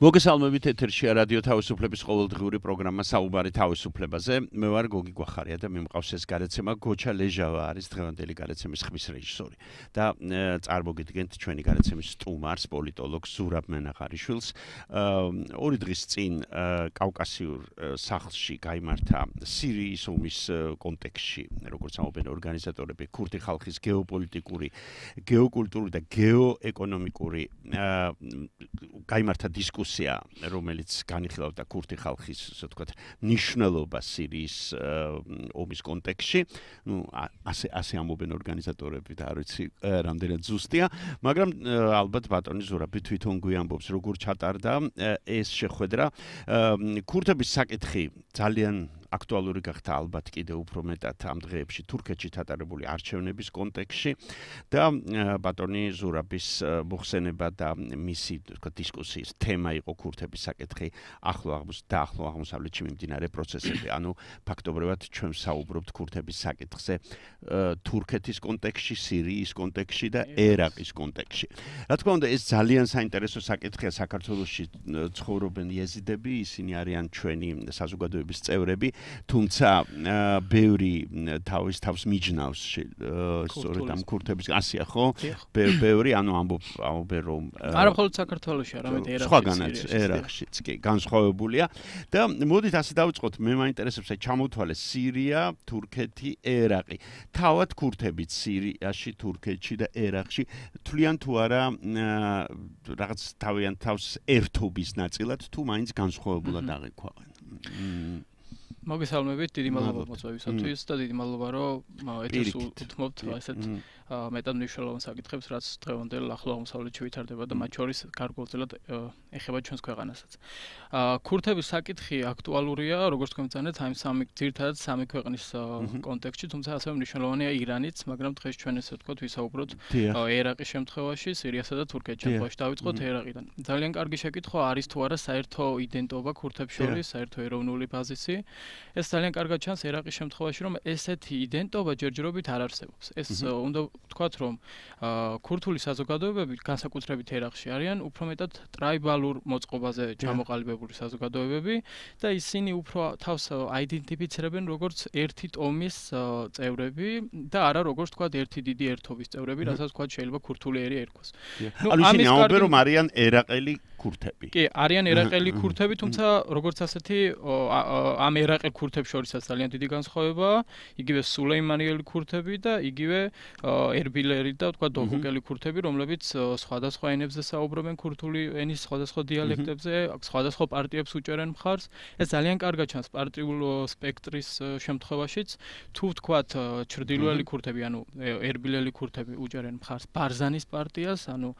მოგესალმებით ეთერშია რადიო თავისუფლების ყოველდღიური პროგრამა საუბარი თავისუფლებაზე. მე ვარ გოგი გვახარია და მე მყავს ეს გარაცემა გოჩა ლეჟავა არის დღევანდელი გარაცემის ხმის რეჟისორი. და წარმოგიდგენთ ჩვენი გარაცემის სტუმარს, პოლიტოლოგს ზურაბ მენაღარიშვილს. 2 დღის წინ კავკასიურ სახლში გაიმართა სირიის ომის კონტექსტში, როგორც ამბობენ ორგანიზატორები, ქურთი ხალხის გეოპოლიტიკური, გეოკულტურული და გეოეკონომიკური გაიმართა დისკუსია, რომელიც განიხილავდა ქურთი ხალხის, ასე ვთქვათ, ნიშნულობას სირიის ომის კონტექსტში. ასე ამბობენ ორგანიზატორები და არ ვიცი რამდენად ზუსტია, მაგრამ ალბათ ბატონი ზურაბი თვითონ გვიამბობს, როგორ ჩატარდა ეს შეხვედრა. ქურთების საკითხი ძალიან აქტუალური გახდა ალბათ კიდევ უფრო მეტად ამ დღეებში თურქეთში ჩატარებული არჩევნების კონტექსტში და ბატონი ზურაბის მოხსენება და მისი დისკუსიის თემა იყო ქურთების საკითხი ახლო აღმოსავლეთში მიმდინარე პროცესები. ანუ ფაქტობრივად ჩვენ საუბრობთ ქურთების საკითხზე თურქეთის კონტექსტში, სირიის კონტექსტში და ერაყის კონტექსტში. რა თქმა უნდა, ეს ძალიან საინტერესო საკითხია. საქართველოში ცხოვრობენ იეზიდები, ისინი არიან ჩვენი საზოგადოების წევრები. თუმცა ბევრი თავს მიჯნავს სწორედ ამ ქურთების ასია ხო? ბევრი ანუ ამბობენ რომ არა მხოლოდ საქართველოში, არამედ ერაყშიც კი განსხვავებულია და მოდით ასე დავიწყოთ, მე მაინტერესებს ჩამოთვალე სირია, თურქეთი, ერაყი. თავად ქურთებიც სირიაში, თურქეთში და ერაყში თვლიან თუ არა რაღაც თავიანთ თავს ერთობის ნაწილად თუ მაინც განსხვავებულად აღიქვამენ. მოგესალმებით, დიდი მადლობა მოწვევისათვის და დიდი მადლობა, რომ ეთერს უთმობთ ესეთ მეტად მნიშვნელოვან საკითხებს, რაც დღევანდელ ახლო აღმოსავლეთში ვითარდება და მათ შორის გარკვეულწილად ეხება ჩვენს ქვეყანასაც. ქურთების საკითხი აქტუალურია, როგორც თქვენ წანეთ, აი ძირითადად სამი ქვეყნის კონტექსტში, თუმცა ასევე მნიშვნელოვანია ირანიც, მაგრამ დღეს ჩვენ ესე ვთქვათ, ვისაუბროთ ერაყის შემთხვევაში, სირიასა და თურქეთის შემთხვევაში. დავიწყოთ ერაყიდან. ძალიან კარგი შეკითხვა არის თუ არა საერთო იდენტობა ქურთებს შორის, საერთო ეროვნული ბაზისი. ეს ძალიან კარგად ჩანს ერაყის შემთხვევაში, რომ ესეთი იდენტობა ჯერჯერობით არ არსებობს. ეს უნდა ვთქვათ, რომ ქურთული საზოგადოებები განსაკუთრებით ერაყში არიან უფრო მეტად ტრაიბალურ მოწყობაზე ჩამოყალიბებული საზოგადოებები და ისინი უფრო თავს აიდენტიფიცირებენ როგორც ერთი ტომის წევრები და არა როგორც ვთქვათ ერთი დიდი ერთობის წევრები, რასაც ვთქვათ შეიძლება ქურთული ერი ერქოს. ანუ ისინი ამბობენ, რომ არიან ერაყელი ქურთები. კი, არიან ერაყელი ქურთები, თუმცა როგორც ასეთი ამ ერაყელ ქურთებს შორისაც ძალიან დიდი განსხვავებაა, იგივე სულეიმანიელი ქურთები და იგივე ერბილერი და თქვა დოჰუკელი ქურთები, რომლებიც სხვადასხვა ენებზე საუბრობენ ქურთული ენის სხვადასხვა დიალექტებზე, სხვადასხვა პარტიებს უჭერენ მხარს. ეს ძალიან კარგად ჩანს პარტიულ სპექტრის შემთხვევაშიც. თუ ვთქვათ ჩრდილოელი ქურთები, ანუ ერბილელი ქურთები უჭერენ მხარს ბარზანის პარტიას, ანუ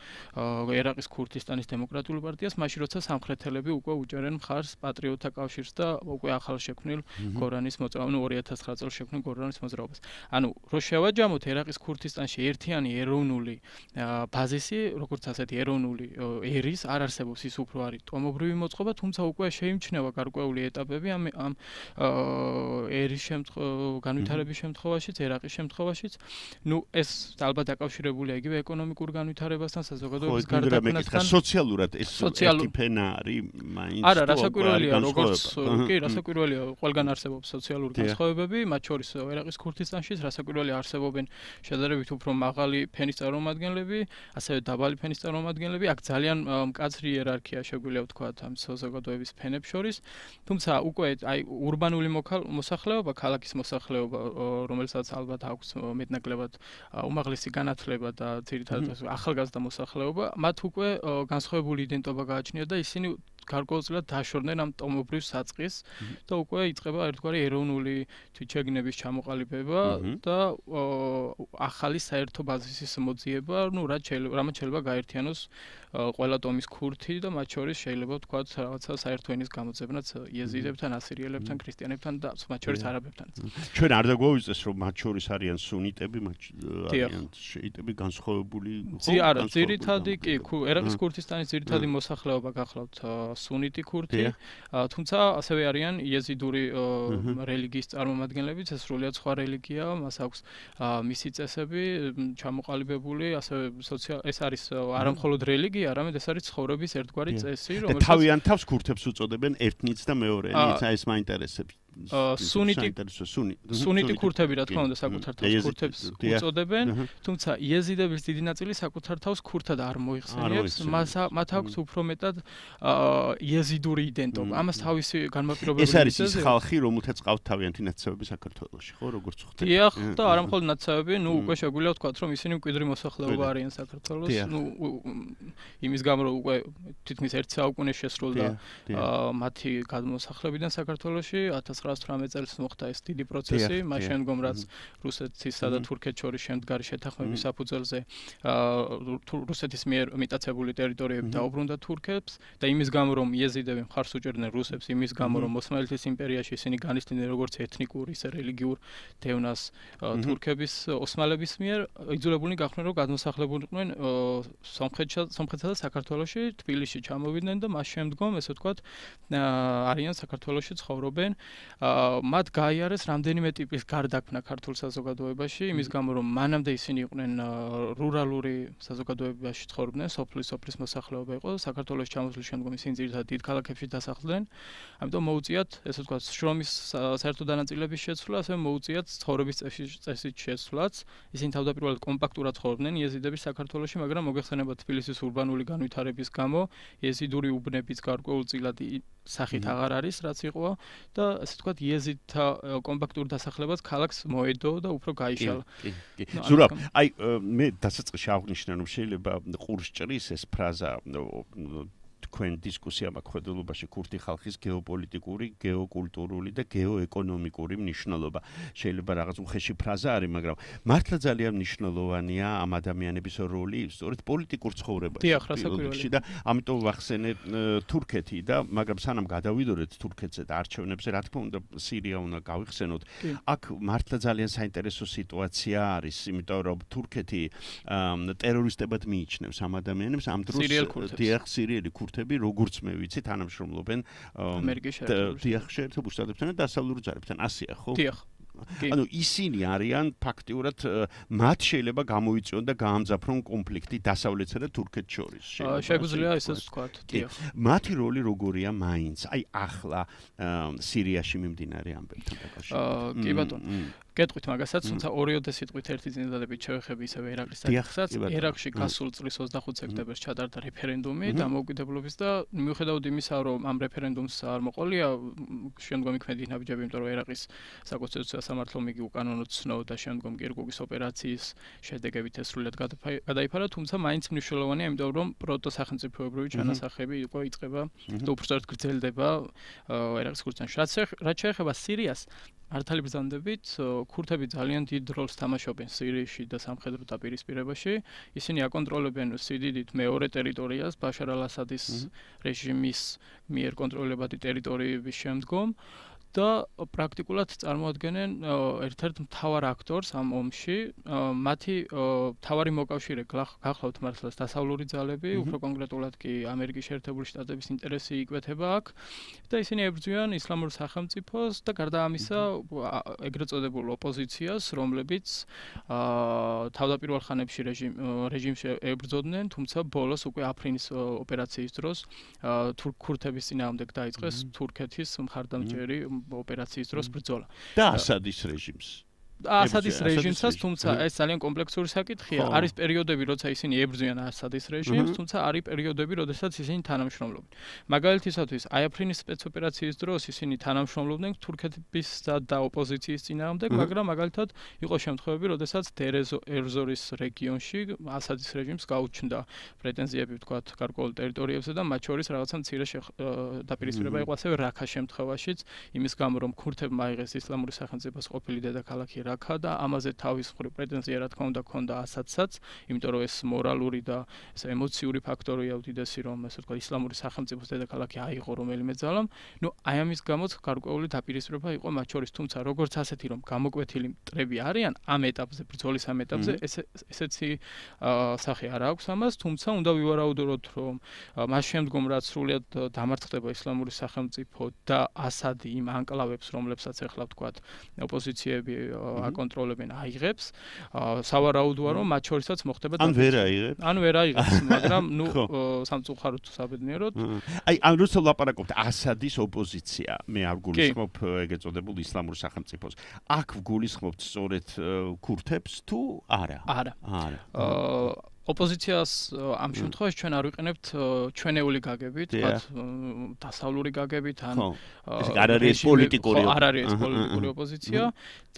ერაყის ქურთისტანის დემოკრატიული პარტიას, მაშინ როცა სამხრეთელები უკვე უჭერენ მხარს პატრიოტთა კავშირს და უკვე ახალ შექმნილ გორანის მოძრაობას, ანუ 2009 წელს შექმნილ გორანის მოძრაობას. ანუ რო შევაჯამოთ ერაყის ქურთისტანში ერთიანი ეროვნული ბაზისი, როგორც ასეთი ეროვნული ერის არ არსებობს, ის უფრო არის ტომობრივი მოწყობა, თუმცა უკვე შეიმჩნევა გარკვეული ეტაპები ამ ერის განვითარების შემთხვევაშიც, ერაყის შემთხვევაშიც. ნუ ეს ალბათ დაკავშირებულია იგივე ეკონომიკურ განვითარებასთან, საზოგადოების გარდაქმნასთან. სოციალურად ეს ერთი ფენა არის მაინც. არა, რასაკვირველია, როგორც კი, რასაკვირველია, ყველგან არსებობს სოციალური განსხვავებები, მათ შორის ერაყის ქურთისტანში რასაკვირველია არსებობენ შედარებით უფრო მაღალი ფენის წარმომადგენლები, ასევე დაბალი ფენის წარმომადგენლები. აქ ძალიან მკაცრი იერარქია შეგვიძლია ვთქვათ ამ საზოგადოების ფენებს შორის. თუმცა უკვე აი ურბანული მოსახლეობა, ქალაქის მოსახლეობა, რომელსაც ალბათ აქვს მეტნაკლებად უმაღლესი განათლება და ძირითადად ახალგაზრდა მოსახლეობა, მათ უკვე განსხვავებული იდენტობა გააჩნიათ და ისინი გარკვეულწილად დაშორდნენ ამ ტომობრივ საწყის და უკვე იწყება ერთგვარი ეროვნული თვითშეგნების ჩამოყალიბება და ახალი საერთო ბაზისის მოძიება, ну, რამაც შეიძლება გაერთიანოს ყველა ტომის ქურთი და მათ შორის შეიძლება ვთქვათ რაღაცა საერთო ენის გამოძებნაც იეზიდებთან, ასირიელებთან, ქრისტიანებთან და მათ შორის არაბებთანაც. ჩვენ არ დაგვაუწეს რომ მათ შორის არიან სუნიტები, არიან შეიტები განსხვავებული არა, ძირითადი კი, ერაყის ქურთისტანის ძირითადი მოსახლეობა გახლავთ სუნიტი ქურთი, თუმცა ასევე არიან იეზიდური რელიგიის წარმომადგენლებიც, ეს სრულიად სხვა რელიგია, მას აქვს მისი წესები ჩამოყალიბებული, ასევე ეს არის არა მხოლოდ რელიგია, არამედ ეს არის ცხოვრების ერთგვარი წესი, რომელსაც თავიანთ თავს ქურთებს უწოდებენ ერთნიც და მეორენიც, ეს მაინტერესებს. სუნიტი ქურთები რა თქმა უნდა საკუთარ თავს ქურთებს უწოდებენ, თუმცა იეზიდების დიდი ნაწილი საკუთარ თავს ქურთად არ მოიხსენიებს, მათ აქვს უფრო მეტად იეზიდური იდენტობა. ამას თავისი განმაპირობებელი ეს არის ის ხალხი, რომელთაც ყავთ თავიანთი ნაცავები საქართველოში, ხო, როგორც ხვდები? დიახ, და არა მხოლოდ ნაცავები, უკვე შეგვიძლია ვთქვათ, რომ ისინი მკვიდრი მოსახლეობა არიან საქართველოს, იმის გამო რომ უკვე თითქმის 1 საუკუნე შესრულდა მათი გადმოსახლებიდან საქართველოში 1918 წელს მოხდა ეს დიდი პროცესი, მას შემდგომ რაც რუსეთისა და თურქეთის შორის შემდგარი შეთანხმების საფუძველზე რუსეთის მიერ მიტაცებული ტერიტორიები დაუბრუნდა თურქებს და იმის გამო რომ იეზიდები მხარს უჭერდნენ რუსებს, იმის გამო რომ ოსმალეთის იმპერიაში ისინი განიცდიდნენ როგორც ეთნიკურ ისე რელიგიურ დევნას თურქების ოსმალების მიერ, იძულებულნი გახდნენ რომ გადმოსახლებულიყვნენ სომხეთსა და საქართველოში, თბილისში ჩამოვიდნენ და მას შემდგომ ესე ვთქვათ არიან საქართველოში ცხოვრობენ. მათ გაიარეს რამდენიმე ტიპის გარდაქმნა ქართულ საზოგადოებაში, იმის გამო რომ მანამდე ისინი იყვნენ რურალური საზოგადოებაში ცხოვრობდნენ, სოფლის მოსახლეობა იყო, საქართველოს ჩამოსვლის შემდგომ ისინი ძირითადად დიდ ქალაქებში დასახლდნენ. ამიტომ მოუწიათ, ესე ვთქვათ, შრომის საერთო დანაწილების შეცვლა, ასევე მოუწიათ ცხოვრების წესის შეცვლაც. ისინი თავდაპირველად კომპაქტურად ცხოვრობდნენ იეზიდები საქართველოში, მაგრამ მოგეხსენება თბილისის ურბანული განვითარების გამო იეზიდური უბნების გარკვეულწილად სახით აღარ არის, რაც იყო და ასე ვთქვათ, იეზიდთა კომპაქტურ დასახლებაც ქალაქს მოედო და უფრო გაიშალა. ზურაბ, აი მე დასაწყისში აღნიშნე რომ შეიძლება ყურს ჭრის ეს ფრაზა თქვენ დისკუსია მაქვს ქურთი ხალხის გეოპოლიტიკური, გეოკულტურული და გეოეკონომიკური მნიშვნელობა. შეიძლება რაღაც უხეში ფრაზა არის, მაგრამ მართლა ძალიან მნიშვნელოვანია ამ ადამიანების როლი სწორედ პოლიტიკურ ცხოვრებაში და ამიტომ ვახსენე თურქეთი და მაგრამ სანამ გადავიდოდეთ თურქეთზე და არჩევნებზე, რა თქმა უნდა, სირია უნდა გავიხსენოთ. აქ მართლა ძალიან საინტერესო სიტუაცია არის, იმიტომ რომ თურქეთი ტერორისტებად მიიჩნევს ამ ადამიანებს, ამ დროს სირიელი ქურთები როგორც მე ვიცი თანამშრომლობენ ამერიკის შეერთებულ შტატებთან და დასავლურ ძალებთან, ასეა ხო? დიახ. ანუ ისინი არიან ფაქტიურად მათ შეიძლება გამოიწვიონ და გაამძაფრონ კონფლიქტი დასავლეთსა და თურქეთს შორის. შეგვიძლია ესეც ვთქვათ. დიახ. მათი როლი როგორია მაინც? აი ახლა სირიაში მიმდინარე ამბებთან დაკავშირებით. კი ბატონო. გეტყვით მაგასაც, თუმცა ორიოდე სიტყვით ერთი წინადადებით შევეხები ისევ ერაყის საკითხსაც. ერაყში გასულ წლის 25 სექტემბერს ჩატარდა რეფერენდუმი დამოუკიდებლობის და მიუხედავად იმისა, რომ ამ რეფერენდუმს არ მოყოლია შემდგომი ქმედი ნაბიჯები, იმიტომ რომ ერაყის საკონსტიტუციო სამართლომ იგი უკანონოდ ცნობდა შემდგომ კირკუგის ოპერაციის შედეგებით ეს სრულად გადაიფარა, თუმცა მაინც მნიშვნელოვანია, იმიტომ რომ პროტოსახელმწიფოებრივი ჩანასახები უკვე იწყება და უბრალოდ გრძელდება ერაყის ქურთეთში. რაც შეეხება სირიას, მართალი ბრძანდებით, ქურთები ძალიან დიდ როლს თამაშობენ სირიაში და სამხედრო დაპირისპირებაში. ისინი აკონტროლებენ სიდიდით მეორე ტერიტორიას, ბაშარ ალ-ასადის რეჟიმის მიერ კონტროლებადი ტერიტორიების შემდგომ და პრაქტიკულად წარმოადგენენ ერთ-ერთ მთავარ აქტორს ამ ომში. მათი მთავარი მოკავშირე გახლავთ მართლაც დასავლური ძალები, უფრო კონკრეტულად კი ამერიკის შეერთებული შტატების ინტერესი იკვეთება აქ და ისინი ებრძვიან ისლამურ სახელმწიფოს და გარდა ამისა ეგრეთ წოდებულ ოპოზიციას, რომლებიც თავდაპირველ ხანებში რეჟიმში ებრძოდნენ, თუმცა ბოლოს უკვე აფრინის ოპერაციის დროს ქურთების წინააღმდეგ დაიწყეს თურქეთის მხარდამჭერი ოპერაციის დროს ბრძოლა. და ასადის რეჟიმს. ასადის რეჟიმსაც, თუმცა ეს ძალიან კომპლექსური საკითხია. არის პერიოდები, როცა ისინი ებრძვიან ასადის რეჟიმს, თუმცა არის პერიოდები, როდესაც ისინი თანამშრომლობენ. მაგალითისათვის, აი აფრინის სპეცოპერაციის დროს ისინი თანამშრომლობდნენ თურქეთისა და ოპოზიციის წინააღმდეგ, მაგრამ მაგალითად იყო შემთხვევები, როდესაც დერ-ეზორის რეგიონში ასადის რეჟიმს გაუჩნდა პრეტენზიები, ვთქვათ, გარკვეულ ტერიტორიებზე და მათ შორის რაღაცა მცირე დაპირისპირება იყო ასევე რაქას შემთხვევაშიც, იმის გამო რომ ქურთებმა აიღეს ისლამური სახელმწიფოს ყოფილი დედაქალაქი რაქა და ამაზე თავის მხრივ პრეტენზია რა თქმა უნდა ჰქონდა ასადსაც, იმიტომ რომ ეს მორალური და ეს ემოციური ფაქტორია უდიდესი, რომ ესე ვთქვათ ისლამური სახელმწიფოს დედაქალაქი აიღო რომელიმე ძალამ. ნუ აი ამის გამოც გარკვეული დაპირისპირება იყო მათ შორის, თუმცა როგორც ასეთი რომ გამოკვეთილი მტრები არიან ამ ეტაპზე, ბრძოლის ამ ეტაპზე, ესეთი სახე არ აქვს ამას, თუმცა უნდა ვივარაუდოთ, რომ მას შემდგომ რაც სრულად დამარცხდება ისლამური სახელმწიფო და ასადი იმ ანკლავებს, რომლებსაც ახლა ვთქვათ ოპოზიციები აკონტროლებენ აიღებს. სავარაუდოა რომ მათ შორისაც მოხდება ან ვერ აიღებს. ან ვერ აიღებს, მაგრამ სამწუხაროდ საბედნიეროდ. აი, ან რუსულ ლაპარაკობთ ასადის ოპოზიცია. მე არ გულისხმობ ეგ ეწოდებულ ისლამურ სახელმწიფოს. აქ ვგულისხმობთ სწორედ ქურთებს თუ არა? არა. ოპოზიციას ამ შემთხვევაში ჩვენ არ ვიყენებთ ჩვენეული გაგებით, თქვათ დასავლური გაგებით ან არ არის პოლიტიკური ოპოზიცია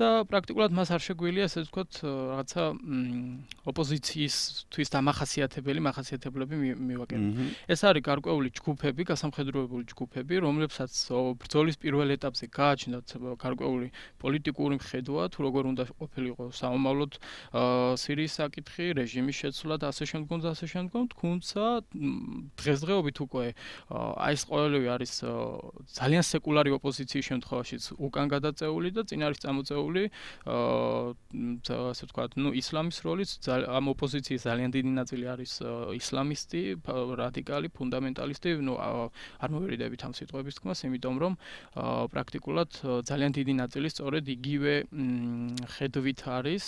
და პრაქტიკულად მას არ შეგვიძლია ესე ვთქვათ რაღაცა ოპოზიციისთვის მახასიათებლები მივაკეთოთ. ეს არის გარკვეული ჯგუფები, გასამხედროებული ჯგუფები, რომლებსაც ბრძოლის პირველ ეტაპზე გააჩნდათ გარკვეული პოლიტიკური მხედვა, თუ როგორ უნდა ყოფილიყო სამომავლოდ სირიის საკითხი, რეჟიმის შეცვლა და ასე შემდგომ, თუმცა დღესდღეობით უკვე აი ეს ყველივე არის ძალიან სეკულარი ოპოზიციის შემთხვევაშიც უკან გადაწეული და წინ არის წამოწეული ასე ვთქვათ, ისლამის როლიც ამ ოპოზიციის ძალიან დიდი ნაწილი არის ისლამისტი, რადიკალი, ფუნდამენტალისტი, არ მოვერიდებით ამ სიტყვების თქმას, იმიტომ რომ პრაქტიკულად ძალიან დიდი ნაწილი სწორედ იგივე ხედვით არის,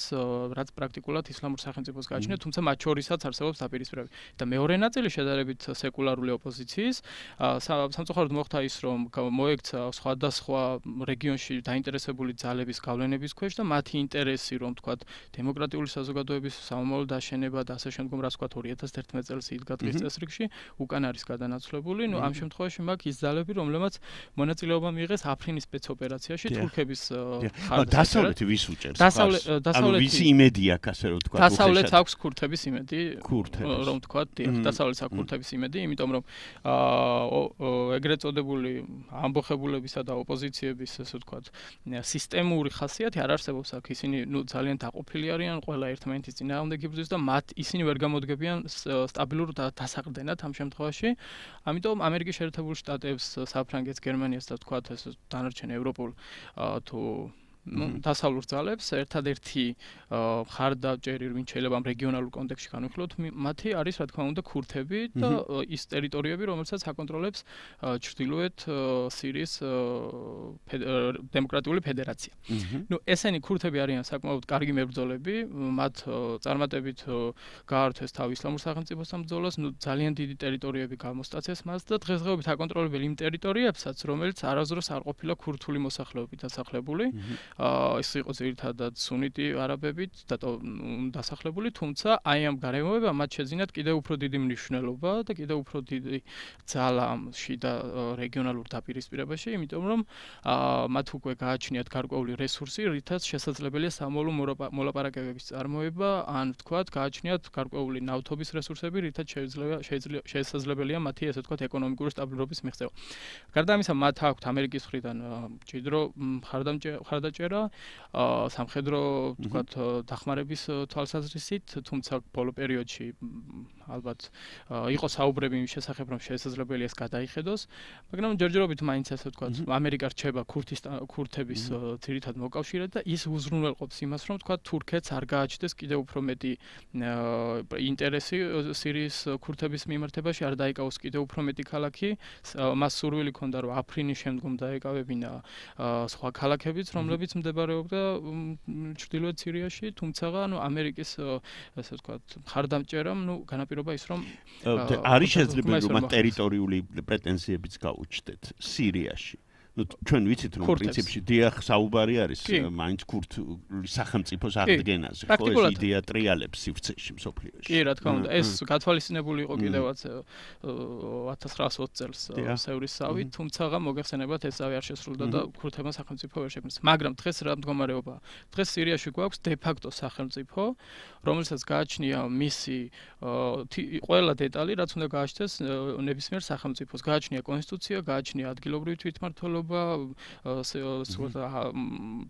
რაც პრაქტიკულად ისლამურ სახელმწიფოს გააჩნია, თუმცა მათ შორისაც არსებობს დაპირისპირება. და მეორე ნაწილი შედარებით სეკულარული ოპოზიციის, სამწუხაროდ მოხდა ის, რომ მოექცა სხვადასხვა რეგიონში დაინტერესებული ძალების გავლენების ქვეშ და მათი ინტერესი, რომ თქვათ, დემოკრატიული საზოგადოების სამომავლო დაშენება და ასე შემდგომ, რაც თქვათ 2011 წელს იდგა დღის წესრიგში, უკან არის გადანაცვლებული. ამ შემთხვევაში მაქვს ის ძალები, რომლებმაც მონაწილეობა მიიღეს აფრინის სპეცოპერაციაში თურქების ხარჯზე. დასავლეთი ვის უჭერს? ანუ ვისი იმედი აქვს, ასე რომ თქვათ, დასავლეთს აქვს ქურთების იმედი, რომ თქვათ, დასავლეთს აქვს ქურთების იმედი, იმიტომ რომ ეგრეთ წოდებული ამბოხებულებისა და ოპოზიციების, ასე ვთქვათ, სისტემური ხასიათი არ არსებობს აქ. ისინი ძალიან დაყოფილი არიან, ყველა ერთმანეთის წინააღმდეგ იბრძვის და ისინი ვერ გამოდგებიან სტაბილურ დასაყრდენად ამ შემთხვევაში. ამიტომ ამერიკის შეერთებულ შტატებს, საფრანგეთს, გერმანიას და ვთქვათ, ეს დანარჩენ ევროპულ თუ დასავლურ ძალებს ერთადერთი მხარდაჭერი, ვინც შეიძლება ამ რეგიონალურ კონტექსტში განვიხილოთ, მათი არის, რა თქმა უნდა, ქურთები და ის ტერიტორიები, რომელსაც აკონტროლებს ჩრდილოეთ სირიის დემოკრატიული ფედერაცია. ესენი ქურთები არიან საკმაოდ კარგი მებრძოლები, მათ წარმატებით გაართვეს თავი ისლამურ სახელმწიფოსთან ბრძოლას, ძალიან დიდი ტერიტორიები გამოსტაცეს მას და დღესდღეობით აკონტროლებენ იმ ტერიტორიებსაც, რომელიც არასდროს არ ყოფილა ქურთული მოსახლეობით დასახლებული. ეს იყო ძირითადად სუნიტი არაბებით დასახლებული, თუმცა აი ამ გარემოებამ მათ შეძინათ კიდევ უფრო დიდი მნიშვნელობა და კიდევ უფრო დიდი ძალა ამ შიდა რეგიონალურ დაპირისპირებაში, იმიტომ რომ მათ უკვე გააჩნიათ გარკვეული რესურსი, რითაც შესაძლებელია სამომავლო მოლაპარაკებების წარმოება, ან ვთქვათ, გააჩნიათ გარკვეული ნავთობის რესურსები, რითაც შესაძლებელია მათი, ასე ვთქვათ, ეკონომიკური სტაბილურობის მიღწევა. გარდა ამისა, მათ აქვთ ამერიკის მხრიდან მჭიდრო მხარდაჭერა სამხედრო ვთქვათ დახმარების თვალსაზრისით, თუმცა ბოლო პერიოდში ალბათ იყო საუბრები იმის შესახებ, რომ შესაძლებელია ეს გადაიხედოს, მაგრამ ჯერჯერობით მაინც ასე ვთქვათ, ამერიკა რჩება ქურთების ძირითად მოკავშირედ და ის უზრუნველყოფს იმას, რომ ვთქვათ, თურქეთს არ გააჩნდეს კიდევ უფრო მეტი ინტერესი სირიის ქურთების მიმართებაში, არ დაიკავოს კიდევ უფრო მეტი ქალაქი, მას სურვილი ჰქონდა, რომ აფრინის შემდგომ დაეკავებინა სხვა ქალაქებიც, რომლებიც მდებარეობდა ჩრდილოეთ სირიაში, თუმცა ამერიკის ასე ვთქვათ, მხარდამჭერამ განაპირობა ის, რომ არის შესაძლებელი რომ ტერიტორიული პრეტენზიებიც გაუჩნდეთ სირიაში. ჩვენ ვიცით რომ პრინციპში დიახ საუბარი არის მაინც ქურთული სახელმწიფოს აღდგენაზე, ხო ეს იდეა ტრიალებს სივრცეში მსოფლიოში. კი, რა თქმა უნდა, ეს გათვალისწინებული იყო კიდევაც 1920 წელს სევრისავით, თუმცა მოგეხსენებათ ეს ავი არ შესრულდა და ქურთებმა სახელმწიფო ვერ შექმნეს. მაგრამ დღეს რა მდგომარეობაა? დღეს სირიაში გვაქვს დე ფაქტო სახელმწიფო, რომელსაც გააჩნია მისი ყველა დეტალი, რაც უნდა გააჩნდეს ნებისმიერ სახელმწიფოს. გააჩნია კონსტიტუცია, გააჩნია ადგილობრივი თვითმმართველობა,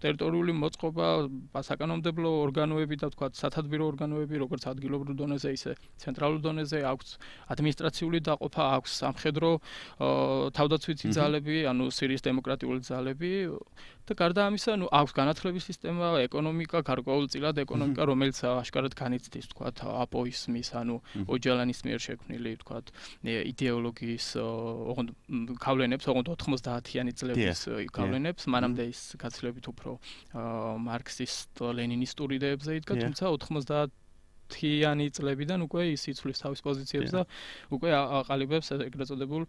ტერიტორიული მოწყობა, საკანონმდებლო ორგანოები და ვთქვათ, სათადბირო ორგანოები, როგორც ადგილობრივ დონეზე, ისე ცენტრალურ დონეზე, აქვს ადმინისტრაციული დაყოფა, აქვს სამხედრო თავდაცვითი ძალები, ანუ სირიის დემოკრატიული ძალები და გარდა ამისა, აქვს განათლების სისტემა, ეკონომიკა, გარკვეულწილად ეკონომიკა, რომელიც აშკარად განიცდის, თქვათ, აპოისმის, ოჯალანის მიერ შექმნილი, თქვათ, იდეოლოგიის გავლენებს, ოღონდ 90-იანი წლების გავლენებს, მანამდე ის გაცილებით უფრო მარქსისტ-ლენინისტური იდეებზე იდგა, თუმცა 90-იანი წლებიდან უკვე ის იცვლის თავის პოზიციებს და უკვე აყალიბებს ეგრეთ წოდებულ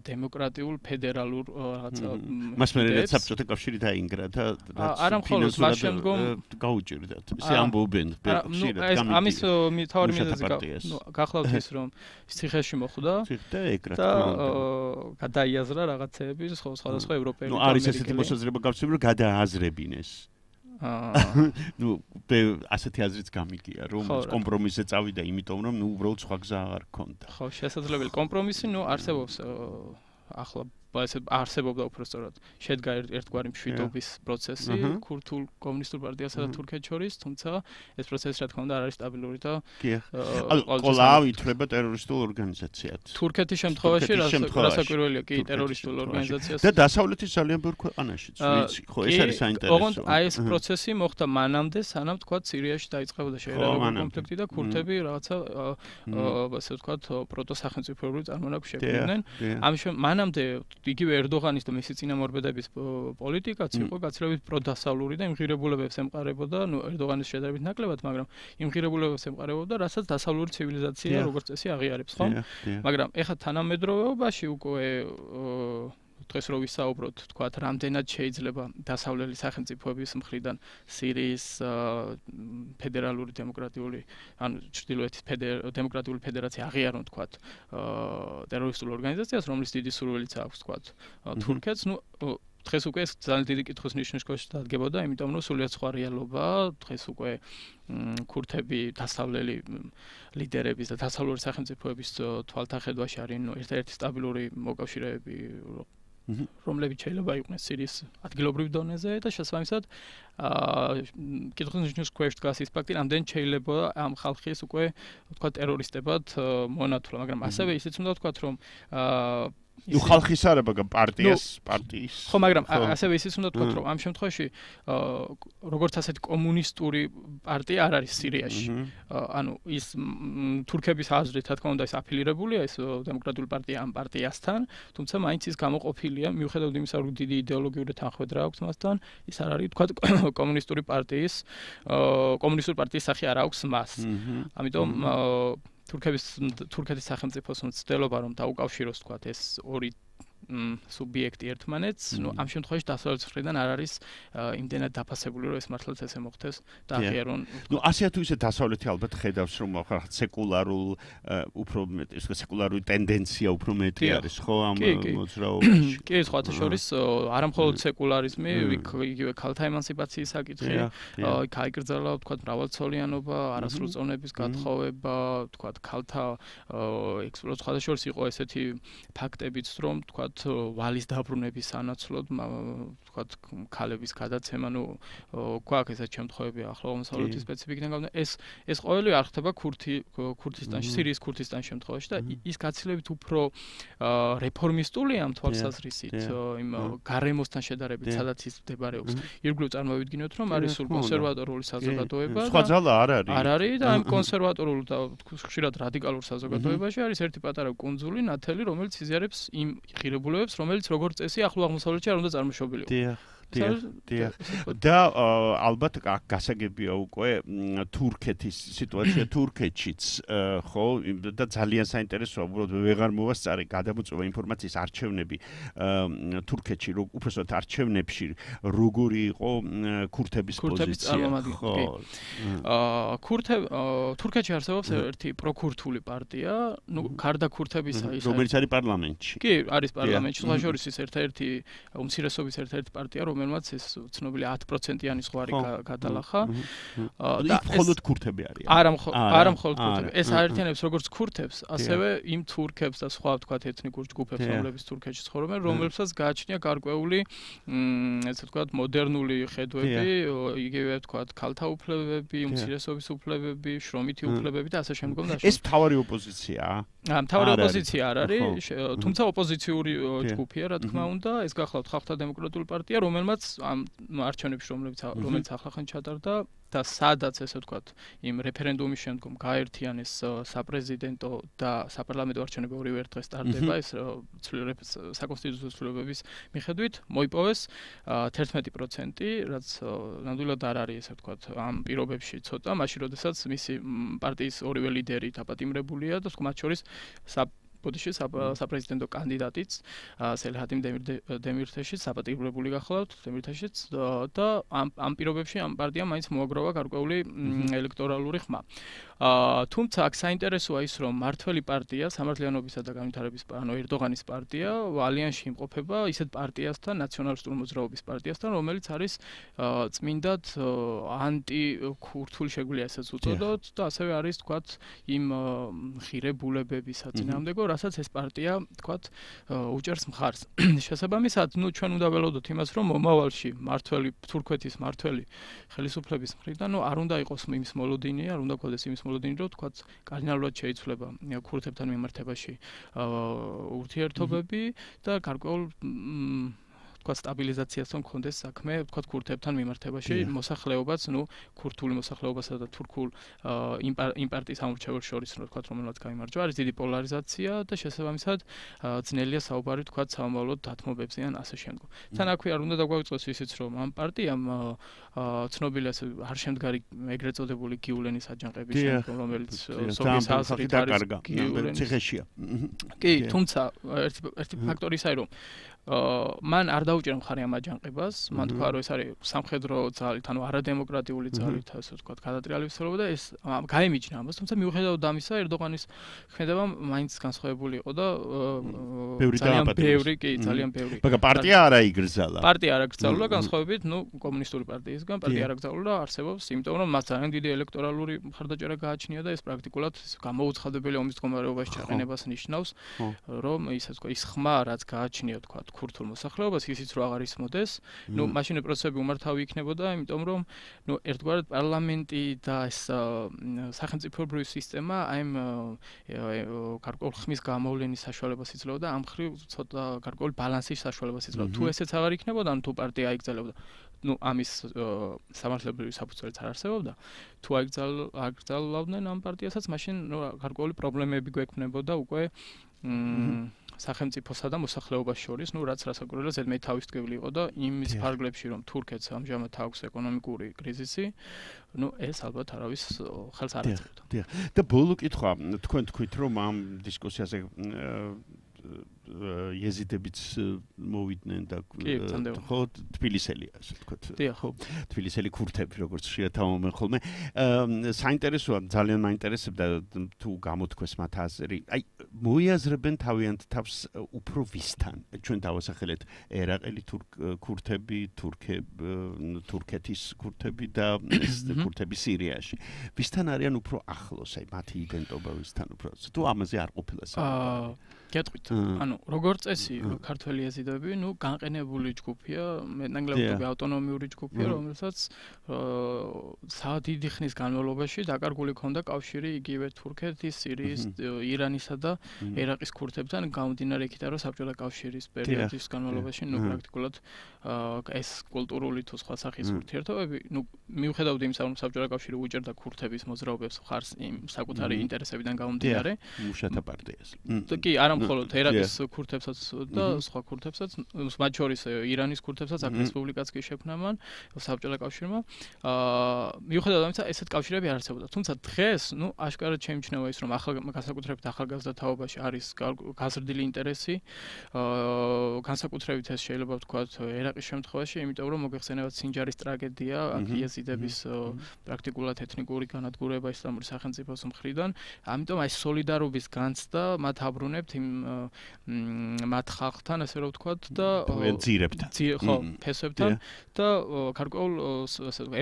დემოკრატიულ ფედერალურ რაღაცა მას მე საბჭოთა კავშირი დაინგრა და არა მხოლოდ მას შემდგომ გაუჭირდათ ისე ამბობენ ამის მთავარი მიზეზი გახლავთ ის რომ ციხეში მოხვდა და გადაიაზრა რაღაცეები სხვადასხვა ევროპელი და არის ესეთი მოსაზრება გავცნობ რომ გადააზრებინეს ასეთი აზრიც გამიგია რომ კომპრომისზე წავიდა იმიტომ რომ უბრალოდ სხვა გზა არ ქონდა ხო შესაძლებელი კომპრომისი არსებობს ახლა არსებობდა უბრალოდ შედგა ერთგვარი მშვიდობის პროცესი ქურთულ კომუნისტურ პარტიასა და თურქეთს შორის, თუმცა ეს პროცესი რა თქმა უნდა არ არის სტაბილური და ყოლავ ითვლება ტერორისტულ ორგანიზაციად. თურქეთის შემთხვევაში რასაკვირველია კი ტერორისტულ ორგანიზაციას და დასავლეთის ძალიან ბევრ ქვეყანაშიც ვიცი, ხო ეს არის საინტერესო. ოღონდ აი ეს პროცესი მოხდა მანამდე, სანამ თქვა სირიაში დაიწყებოდა შეერაგებული კონფლიქტი და ქურთები რაღაცა ასე ვთქვათ პროტოსახელმწიფოებრივი წარმონაქმნი შექმნიდნენ. ამიტომ მანამდე იგივე ერდოღანის და მისი წინამორბედების პოლიტიკაც იყო გაცილებით პროდასავლური და იმღირებულებებს ემყარებოდა, ერდოღანის შედარებით ნაკლებად, მაგრამ იმღირებულებებს ემყარებოდა, რასაც დასავლური ცივილიზაცია როგორც წესი აღიარებს, ხო? მაგრამ ეხლა თანამედროვეობაში უკვე დღეს რო ვისაუბროთ, თქვათ, რამდენად შეიძლება დასავლელი სახელმწიფოების მხრიდან სირიის ფედერალური დემოკრატიული, ანუ ჩრდილოეთის დემოკრატიული ფედერაცია აღიარონ, თქვათ, ტერორისტულ ორგანიზაციას, რომლის დიდი სურვილიც აქვს, თქვათ, თურქეთს, დღეს უკვე ეს ძალიან დიდი კითხვის ნიშნის ქვეშ დადგებოდა, იმიტომ რომ სულიად სხვა რეალობაა, დღეს უკვე ქურთები დასავლელი ლიდერების და დასავლური სახელმწიფოების თვალთახედვაში არიან ერთ-ერთი სტაბილური მოკავშირეები რომლებიც შეიძლება იყვნენ სირიის ადგილობრივ დონეზე და შესაბამისად კითხვის ნიშნის ქვეშ დგას ის ფაქტი, რამდენ შეიძლება ამ ხალხის უკვე თქვა ტერორისტებად მონათულა, მაგრამ ასევე ისიც უნდა ვთქვათ, რომ ხალხის არაბა პარტიის ხო, მაგრამ ასევე ისიც უნდა ვთქვათ, რომ ამ შემთხვევაში როგორც ასეთი კომუნისტური პარტია არ არის სირიაში. ანუ ის თურქების აზრით, რა თქმა უნდა, ის აფილირებულია ეს დემოკრატიული პარტია ამ პარტიასთან, თუმცა მაინც ის გამოყოფილია, მიუხედავად იმისა, რომ დიდი იდეოლოგიური თანხმედრა აქვს მასთან, ის არ არის, თქვათ, კომუნისტური პარტიის სახე არ აქვს მას. ამიტომ თურქეთის სახელმწიფოს მცდელობა რომ დაუკავშიროს თქვათ ეს ორი სუბიექტი ერთმანეთს, ამ შემთხვევაში დასავლეთის მხრიდან არ არის იმდენად დაფასებული, რომ ეს მართლაც ესე მოხდეს და აღიარონ. ასე თუ ისე დასავლეთი ალბათ ხედავს, რომ რაღაც სეკულარულ უფრო მეტი, სეკულარული ტენდენცია უფრო მეტი არის, ხო, ამ მოძრაობაში. კი, სხვათა შორის არა მხოლოდ სეკულარიზმი, იგივე ქალთა ემანციპაციის საკითხი, იქ აიკრძალა, თქვათ, მრავალცოლიანობა, არასრულწლოვნების გათხოვება, თქვათ, ქალთა ექსპლუატაცია, სხვათა შორის იყო ესეთი ფაქტებიც, რომ თქვათ ვალის დაბრუნების სანაცვლოდ, თქვათ, ქალების გადაცემა, გვაქვს ესეთ შემთხვევები ახლომოსავლეთის სპეციფიკიდან გამომდინარე. ეს ყოველი არ ხდება ქურთისტანში, სირიის ქურთისტანის შემთხვევაში და ის გაცილებით უფრო რეფორმისტულია ამ თვალსაზრისით, იმ გარემოსთან შედარებით, სადაც ის მდებარეობს. ირგვლივ წარმოვიდგინოთ, რომ არის სულ კონსერვატორული საზოგადოება. სხვა ძალა არ არის. არ არის და ამ კონსერვატორულ და ხშირად რადიკალურ საზოგადოებაში არის ერთი პატარა კუნძული, ნათელი, რომელიც იზიარებს იმ ღირებულებებს, რომელიც როგორც წესი ახლო აღმოსავლეთში არ უნდა წარმოშობილიყო. და ალბათ გასაგებია უკვე თურქეთის სიტუაცია თურქეთშიც, ხო, და ძალიან საინტერესოა, უბრალოდ ვეღარ მოვასწარე გადამოწვევა ინფორმაციის არჩევნები თურქეთში, უბრალოდ არჩევნებში როგორი იყო ქურთების პოზიცია. თურქეთში არსებობს ერთი პროქურთული პარტია, გარდა ქურთებისა ის რომელიც არის პარლამენტში. კი, არის პარლამენტში, სხვა შორის ის ერთ-ერთი უმცირესობის ერთ-ერთი პარტია, რომელმაც ეს ცნობილი 10%-იანი ზღვარი გადალახა. და მხოლოდ ქურთები არიან. არა მხოლოდ ქურთები. ეს აერთიანებს როგორც ქურთებს, ასევე იმ თურქებს და სხვა ვთქვათ ეთნიკურ ჯგუფებს, რომლებიც თურქეთში ცხოვრობენ, რომლებსაც გააჩნია გარკვეული ესე ვთქვათ მოდერნული ხედვები, იგივე ვთქვათ ქალთა უფლებები, უმცირესობის უფლებები, შრომითი უფლებები და ასე შემდგომ და ეს მთავარი ოპოზიციაა. მთავარი ოპოზიცია არ არის, თუმცა ოპოზიციური ჯგუფია, რა თქმა უნდა, ეს გახლავთ ხალხთა დემოკრატიული პარტია, რომელმაც მთავრობამაც ამ არჩევნებში რომელიც ახლახან ჩატარდა და სადაც ესე ვთქვათ იმ რეფერენდუმის შემდგომ გაერთიანეს საპრეზიდენტო და საპარლამენტო არჩევნები ორივე ერთ დღეს ტარდება ეს საკონსტიტუციო ცვლილებების მიხედვით მოიპოვეს 11%, რაც ნამდვილად არ არის ესე ვთქვათ ამ პირობებში ცოტა, მაშინ როდესაც მისი პარტიის ორივე ლიდერი დაპატიმრებულია და მათ შორის ბოდიში საპრეზიდენტო კანდიდატიც სელჰადიმ დემირთეშიც საპატიმრებული გახლავთ დემირთეშიც და ამ პირობებში ამ პარტიამ მაინც მოაგროვა გარკვეული ელექტორალური ხმა. თუმცა აქ საინტერესოა ის რომ მართველი პარტია სამართლიანობისა და განვითარების ანუ ერდოღანის პარტია ალიანსში იმყოფება ისეთ პარტიასთან ნაციონალისტური მოძრაობის პარტიასთან რომელიც არის წმინდად ანტიქურთული შეგვიძლია ესეც უწოდოთ და ასევე არის თქვათ იმ ღირებულებების საწინააღმდეგო რასაც ეს პარტია თქვათ უჭერს მხარს. შესაბამისად, ჩვენ უნდა ველოდოთ იმას, რომ მომავალში მართველი თურქეთის მართველი ხელისუფლების მხრიდან, არ უნდა იყოს იმის მოლოდინი, არ უნდა გქონდეს იმის მოლოდინი, რომ თქვათ კარდინალურად შეიცვლება ქურთებთან მიმართებაში ურთიერთობები და გარკვეულ თქვათ სტაბილიზაციასთან მქონდეს საქმე, თქვათ ქურთებთან მიმართებაში მოსახლეობაც, ქურთული მოსახლეობასა და თურქულ იმ პარტიის ამორჩეველს შორის, თქვათ, რომელსაც გაიმარჯვა, არის დიდი პოლარიზაცია და შესაბამისად ძნელია საუბარი თქვათ სამომავლოდ დათმობებზე ან ასე შემდგომ. თან აქვე არ უნდა დაგვაუწყოს ისიც, რომ ამ პარტიამ ცნობილი ასე არ შემდგარი ეგრეთ წოდებული გიულენის აჯანყების შემდგომ, რომელიც სოფლის აზრით არის გიულენის ციხეშია. კი, თუმცა ერთი ფაქტორი ისაა, რომ მან არ დაუჭერა მხარი ამ აჯანყებას, მან თქვა რომ ეს არის სამხედრო ძალით, ანუ არადემოკრატიული ძალით, ასე ვთქვათ, გადატრიალების ცდილობა და ეს გაემიჯნა ამას, თუმცა მიუხედავად ამისა, ერდოღანის ქმედება მაინც განსხვავებული იყო და ძალიან ბევრი. მაგრამ პარტია არ აიგრძალა. პარტია არ აკრძალულა განსხვავებით, კომუნისტური პარტიისგან, პარტია არ აკრძალულა, არსებობს, იმიტომ რომ მას ძალიან დიდი ელექტორალური მხარდაჭერა გააჩნია და ეს პრაქტიკულად გამოუცხადებელი ომის მდგომარეობაში ჩაყენებას ნიშნავს, რომ ისე ვთქვათ, ის ხმა, რაც გააჩნია თქვათ ქურთულ მოსახლეობას ისიც რო აღარ ისმოდეს, მაშინ პროცესები უმართავი იქნებოდა, იმიტომ რომ ერთგვარად პარლამენტი და ეს სახელმწიფოებრივი სისტემა აი გარკვეულ ხმის გამოვლენის საშუალებას იძლეოდა, ამ მხრივ ცოტა გარკვეული ბალანსის საშუალებას იძლეოდა. თუ ესეც აღარ იქნებოდა, თუ პარტია აიგრძელებდა ამის სამართლებრივი საფუძველიც არ არსებობდა, თუ აიგრძალავდნენ ამ პარტიასაც, მაშინ გარკვეული პრობლემები გვექმნებოდა უკვე სახელმწიფოსა და მოსახლეობას შორის, რაც რასაკვირველია ზედმეტ თავისწვრივი იყო და იმის ფარგლებში, რომ თურქეთს ამჟამად აქვს ეკონომიკური კრიზისი, ეს ალბათ არავის ხელს არ აწყობდა. და ბოლო კითხვა, თქვენ თქვით, რომ ამ დისკუსიაზე იეზიდებიც მოვიდნენ და ხო თბილისელია ასე ვთქვათ ხო თბილისელი ქურთები როგორც შეთავმენ ხოლმე საინტერესოა ძალიან მაინტერესებდა თუ გამოთქვეს მათ აზრი აი მოიაზრებენ თავიანთ თავს უფრო ვისთან ჩვენ დავასახელეთ ერაყელი ქურთები თურქეთის ქურთები და ქურთები სირიაში ვისთან არიან უფრო ახლოს აი მათი იდენტობა ვისთან უფრო თუ ამაზე არ ყოფილა საუბარი გეტყვით ანუ როგორც წესი ქართველი ეზიდები განყენებული ჯგუფია მეტნაკლებად ავტონომიური ჯგუფია რომელსაც დიდი ხნის განმავლობაში დაკარგული ქონდა კავშირი იგივე თურქეთის სირიის ირანისა და ერაყის ქურთებთან გამომდინარე იქიდან რომ საბჭოთა კავშირის პერიოდის განმავლობაში პრაქტიკულად ეს კულტურული თუ სხვა სახის ურთიერთობები მიუხედავად იმისა რომ საბჭოთა კავშირი უჭერდა ქურთების მოძრაობებს ხარს იმ საკუთარი ინტერესებიდან გამომდინარე მუშათა პარტიას კი არა მხოლოდ ერაყის ქურთებსაც და სხვა ქურთებსაც მათ შორის ირანის ქურთებსაც აქ რესპუბლიკაც კი შექმნა მან საბჭოთა კავშირმა მიუხედავად ამისა ესეთ კავშირები არ არსებობდა თუმცა დღეს აშკარად შეიმჩნევა ის რომ განსაკუთრებით ახალგაზრდა თაობაში არის გაზრდილი ინტერესი განსაკუთრებით ეს შეიძლება ვთქვათ ერაყის შემთხვევაში იმიტომ რომ მოგეხსენებათ სინჯარის ტრაგედია აქ იეზიდების პრაქტიკულად ეთნიკური განადგურება ისლამური სახელმწიფოს მხრიდან ამიტომ აი სოლიდარობის განცდა მათ აბრუნებთ იმ მათ ხალხთან ასე რომ ვთქვათ და ხო ფესვებთან და გარკვეულ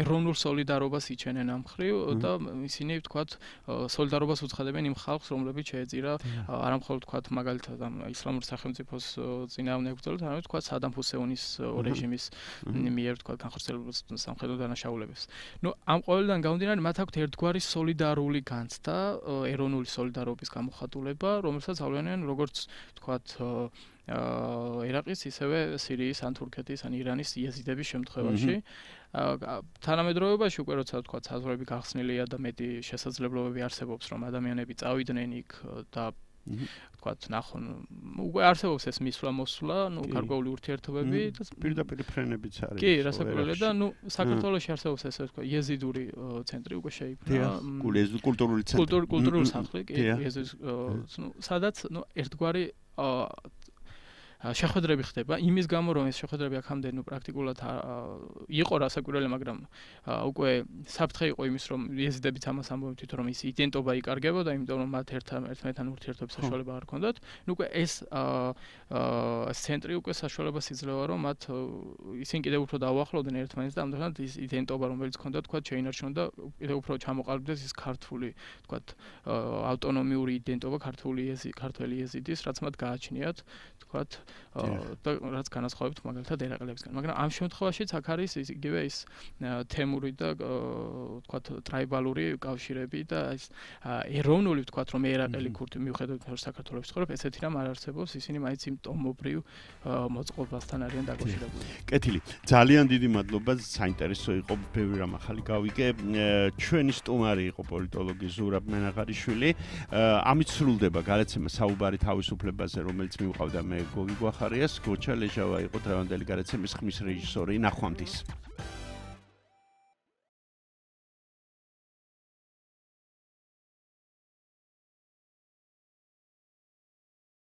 ეროვნულ სოლიდარობას იჩენენ ამ მხრივ და ისინი ვთქვათ სოლიდარობას უცხადებენ იმ ხალხს რომლებიც შეეწირა არა მხოლოდ ვთქვათ მაგალითად ამ ისლამური სახელმწიფოს წინააღმდეგ ბრძოლას არამედ ვთქვათ სადამ ჰუსეინის რეჟიმის მიერ ვთქვათ განხორციელებულ სამხედრო დანაშაულებებს ამ ყველიდან გამომდინარე მათ აქვთ ერთგვარი სოლიდარული განცდა ეროვნული სოლიდარობის გამოხატულება რომელსაც ავლენენ როგორც ვთქვათ ერაყის, ისევე სირიის ან თურქეთის ან ირანის იეზიდების შემთხვევაში. თანამედროვეობაში უკვე როცა თქვა საზღვრები გახსნილია და მეტი შესაძლებლობები არსებობს რომ ადამიანები წავიდნენ იქ და თქვათ ნახონ უკვე არსებობს ეს მისვლა-მოსვლა, გარკვეული ურთიერთობები და პირდაპირ ფრენებიც არის. კი, რასაკვირველია და საქართველოში არსებობს ესე თქვა იეზიდური ცენტრი უკვე შეიქმნა. კულტურული ცენტრი. კულტურული სახლი, კი, იეზის სადაც ერთგვარი შეხვედრები ხდება იმის გამო რომ ეს შეხვედრები აქამდე პრაქტიკულად იყო რასაკვირველია, მაგრამ უკვე საფრთხე იყო იმის რომ იეზიდებიც ამას ამბობენ თვითონ რომ ის იდენტობა იკარგებოდა, იმიტომ რომ მათ ერთმანეთთან ურთიერთობის საშუალება არ ჰქონდათ. ნუ უკვე ეს ცენტრი უკვე საშუალებას იძლევა რომ მათ ისინი კიდევ უფრო დაუახლოვდნენ ერთმანეთს და ამდენად ის იდენტობა რომელიც ჰქონდათ თქვა შეინარჩუნდა კიდევ უფრო ჩამოყალიბდეს ის ქართული თქვა ავტონომიური იდენტობა ქართული იეზიდის რაც მათ გააჩნიათ თქვა და რაც განასხვავებთ მაგალითად ერაყელებისგან. მაგრამ ამ შემთხვევაშიც აქ არის იგივე ის თემური და თქვათ ტრაიბალური კავშირები და ის ეროვნული თქვათ რომ ერაყელი ქურთი მიუხედავად რომ საქართველოს ცხოვრობ, ესეთი რამ არ არსებობს, ისინი მაინც იმ ტომობრივ მოწყობასთან არიან დაკავშირებული. კეთილი. ძალიან დიდი მადლობა, საინტერესო იყო, ბევრი რამ ახალი გავიგე. ჩვენი სტუმარი იყო პოლიტოლოგი ზურაბ მენაღარიშვილი. ამით სრულდება გადაცემა საუბარი თავისუფლებაზე, რომელიც მივყავდა მე გოგი გვახარიას, გოჩა ლეჟავა იყო დღევანდელი გადაცემის ხმის რეჟისორი. ნახვამდის.